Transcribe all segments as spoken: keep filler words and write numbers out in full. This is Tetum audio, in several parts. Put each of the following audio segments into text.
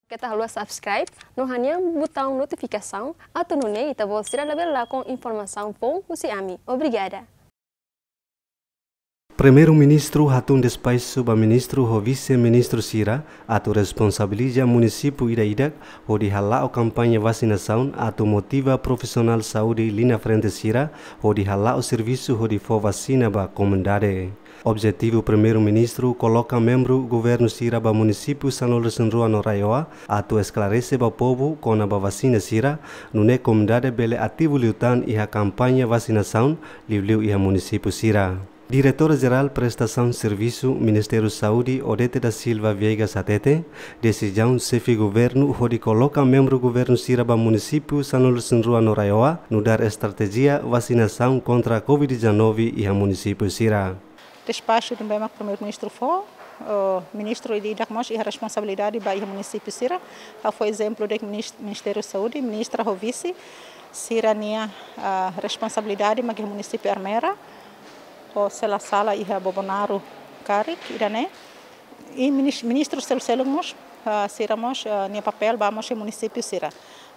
Keta haluha subscribe no hanehan butaun notifikasaun atu nune'e ita-boot sira labele lakon informasaun foun husi ami. Obrigada. Primeiru-Ministru hatún despaxu ba ministru ho vise-ministru sira atu responsabiliza munisípiu ida-idak hodi hala'o kampaña vasinasaun atu motiva profisionál saúde liña frente sira hodi hala'o servisu hodi fó vasina ba komunidade. Objetivu Primeiru-Ministru koloka membru governu sira ba munisípiu sanulu-resin-rua no RAEOA atu esklarese ba povu kona-ba vasina sira, nune'e komunidade bele ativu liután iha kampaña vasinasaun, liuliu iha munisípiu sira. Diretora Jerál Prestasaun Servisu Ministériu Saúde, Odete da Silva Viegas hatete, desizaun xefe governu hodi koloka membru governu sira ba munisípiu sanulu-resin-rua no RAEOA nu'udar estratéjia vasinasaun kontra covid dezanove iha munisípiu sira. Despaxu ne'ebé mak Primeiru-Ministru fó, eh, ministru ida-idak mós iha responsabilidade ba iha munisípiu sira. Ha'u fó ezemplu de'it minis-, Ministériu Saúde, ministra ho vise, sira-nia, ah, responsabilidade mak iha munisípiu Ermera, ou se la sala iha Bobonaro karik, ida-ne'e. I minis-, ministru seluk-seluk mós, ah, sira mós, ah, nia papél ba mós iha munisípiu sira.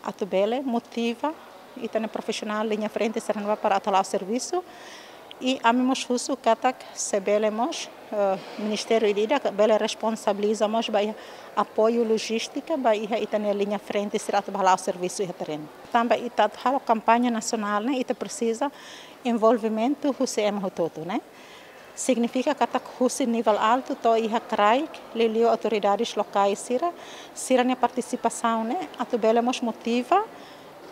Atu bele motiva ita-nia profisionál liña frente sira-ne'ebá para atu hala'o servisu. I ami mós husu katak se bele mós, eh, ministériu ida-idak bele responsabiliza mós ba iha apoiu lojístika ba iha ita-nia liña frente sira atu bá hala'o servisu iha terrenu. Tanba ita atu halo kampaña nasionál ne'e, ita presiza envolvimentu husi ema hotu-hotu ne'e. Signifika katak husi nivel altu to'o iha kraik, liuliu autoridades lokais sira, sira-nia partisipasaun ne'e atu bele mós motiva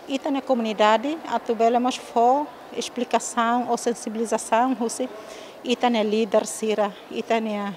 ita-nia komunidade atu bele mós fó esplikasaun ou sensibilizasaun husi ita-nia líder sira, ita-nia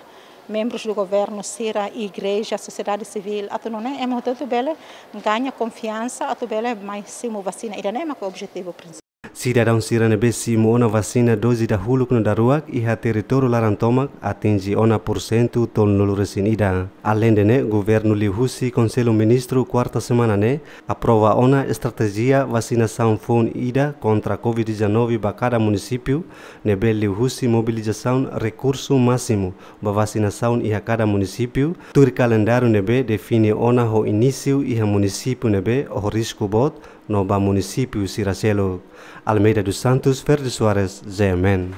membrus do governu sira, igreja, sosiedade sivíl, atu nune'e ema hotu-hotu bele gaña konfiansa atu bele mai simu vasina. Ida-ne'e mak objetivu prinsipál. Sidadaun sira ne'ebé simu ona vasina doze dahuluk no daruak iha territóriu laran tomak atinje ona pursentu tolunulu-resin-ida. Aleinde ne'e, governu liuhusi Konsellu Ministru kuarta semana ne'e aprova ona estratéjia vasinasaun foun ida kontra covid dezanove ba kada munisípiu, ne'ebé liuhusi mobilizasaun rekursu másimu ba vasinasaun iha kada munisípiu, tuir kalendáriu ne'ebé define ona ho inísiu iha munisípiu ne'ebé ho risku boot, no ba munisípiu sira seluk. Almeida dos Santos, Ferdi Soares, G M N.